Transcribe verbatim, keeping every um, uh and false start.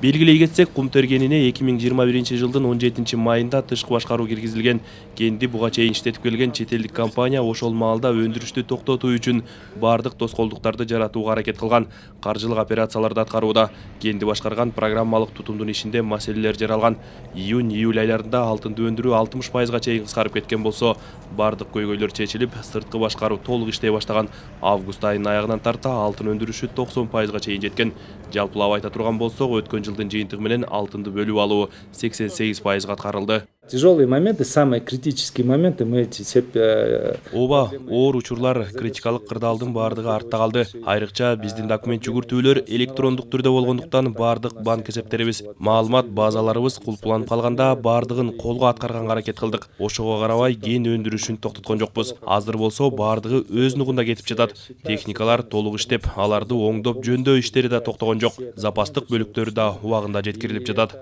Белгилей кетсек, кум тергенине эки миң жыйырма биринчи жылдын он жетинчи майында тышкы башкаруу киргизилген. Кенди буга чейин иштетип келген чет элдик компания ошол маалда өндүрүштү токтотуу үчүн бардык тоскоолдуктарды жаратууга аракет кылган, каржылык операцияларды аткарууда. Кенди башкарган программалык тутумдун ишинде маселелер жаралган. Июнь-июль айларында алтынды өндүрүү алтымыш пайызга чейин кыскарып кеткен болсо, бардык көйгөйлөр чечилип, сырткы башкаруу толук иштей баштаган. Август айынын аягынан тарта алтын өндүрүшү токсон пайызга чейин жеткен. Жалпылап айта турган болсок, өткөн жылдын жыйынтыгы менен алтынды бөлүп алуу сексен сегиз пайызга аткарылды. Тяжелые моменты, самые критические моменты мы эти все... Ооба, оор учурлар, критикалык кырдаалдын бардыгы артта калды. Айрыкча биздин документ жүгүртүүлөр электрондук түрдө болгондуктан бардык банк эсептерибиз, маалымат базаларыбыз кулпуланып калганда бардыгын колго аткарганга аракет кылдык. Ошого карабай кен өндүрүшүн токтоткон жокпуз. Азыр болсо бардыгы өз нугунда кетип жатат. Техникалар толук иштеп, аларды оңдоп жөндөө иштери да токтогон жок. Запастык бөлүктөрү да убагында жеткирилип жатат.